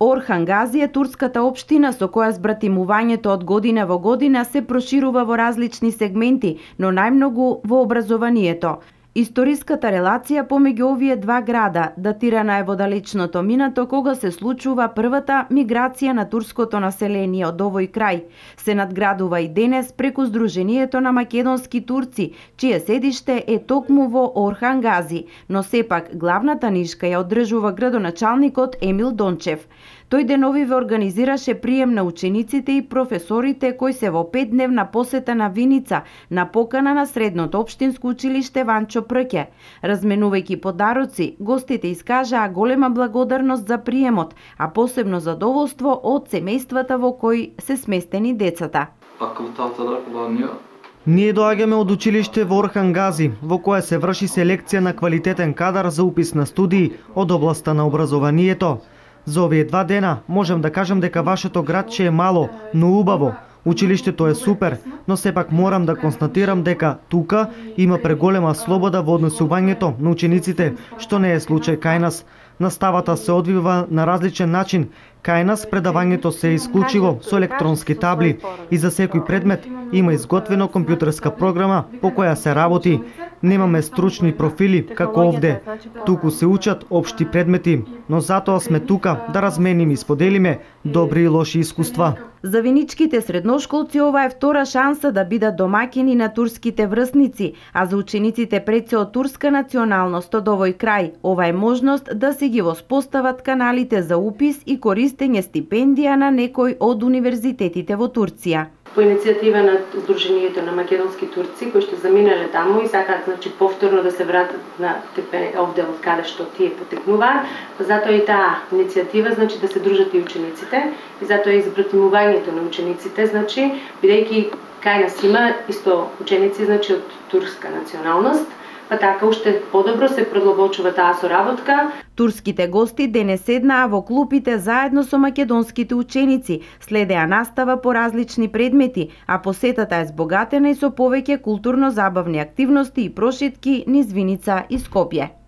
Орхан Гази е турската општина со која збратимувањето од година во година се проширува во различни сегменти, но најмногу во образованието. Историската релација помеѓу овие два града датирана е во далечното минато, кога се случува првата миграција на турското население од овој крај. Се надградува и денес преку Сдруженијето на македонски турци, чие седиште е токму во Орхан Гази, но сепак главната нишка ја одржува градоначалникот Емил Дончев. Тој деновиве организираше прием на учениците и професорите кои се во 5-дневна посета на Виница на покана на Средното општинско училиште Ванчо Прке. Разменувајќи подароци, гостите искажаа голема благодарност за приемот, а посебно задоволство од семејствата во кои се сместени децата. Ние доаѓаме од училиште во Орхан Гази, во кое се врши селекција на квалитетен кадар за упис на студии од областа на образованието. За овие 2 дена можем да кажем дека вашето градче е мало, но убаво. Училиштето е супер, но сепак морам да констатирам дека тука има преголема слобода во однесувањето на учениците, што не е случај кај нас. Наставата се одвива на различен начин. Кај нас предавањето се е исклучиво со електронски табли и за секој предмет има изготвено компјутерска програма по која се работи. Немаме стручни профили како овде. Туку се учат општи предмети, но затоа сме тука да размениме и споделиме добри и лоши искуства. За виничките средношколци ова е втора шанса да бидат домаќини на турските врсници, а за учениците пред од турска националност од овој крај, ова е можност да се ги воспостават каналите за упис и користење стипендија на некој од универзитетите во Турција. По иницијатива на Сдруженијето на македонски турци кои што заминале таму и сакаат повторно да се вратат на овде од каде што тие потекнуваат, затоа и таа иницијатива да се дружат и учениците и затоа и збратимувањето на учениците, бидејќи кај нас има исто ученици од турска националност, па така уште подобро се продлабочува таа соработка. Турските гости денес седнаа во клупите заедно со македонските ученици, следеа настава по различни предмети, а посетата е збогатена и со повеќе културно-забавни активности и прошетки низ Виница и Скопје.